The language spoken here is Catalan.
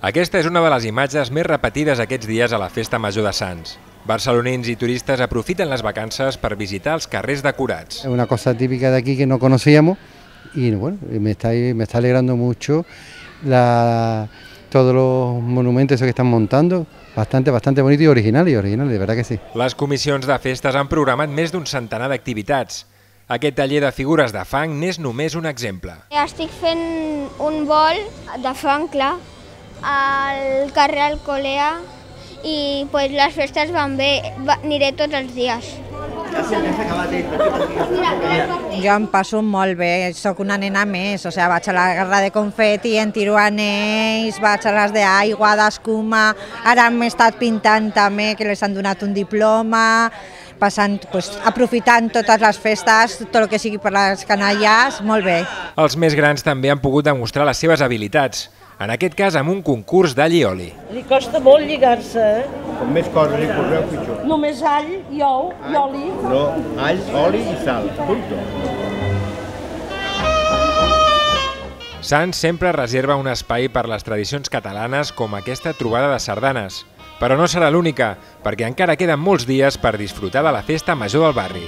Aquesta és una de les imatges més repetides aquests dies a la Festa Major de Sants. Barcelonins i turistes aprofiten les vacances per visitar els carrers decorats. Es una cosa típica de aquí que no conocíamos y bueno, me está alegrando mucho todos los monumentos que están montando, bastante bonito y original, de verdad que sí. Les comissions de festes han programat més d'un centenar d'activitats. Aquest taller de figures de fang n'és només un exemple. Estic fent un bol de fang, clar, al carrer Alcolea i les festes van bé, aniré tots els dies. Jo em passo molt bé, sóc una nena més, vaig a la guerra de confeti, en tiro anells, vaig a les d'aigua, d'escuma, ara m'he estat pintant també, que les han donat un diploma, aprofitant totes les festes, tot el que sigui per les canalles, molt bé. Els més grans també han pogut demostrar les seves habilitats, en aquest cas amb un concurs d'all i oli. Li costa molt lligar-se, Com més coses li poseu, pitjor. Només all i ou i oli. No, all, oli i sal, punto. Sants sempre reserva un espai per les tradicions catalanes com aquesta trobada de sardanes. Però no serà l'única, perquè encara queden molts dies per disfrutar de la Festa Major del barri.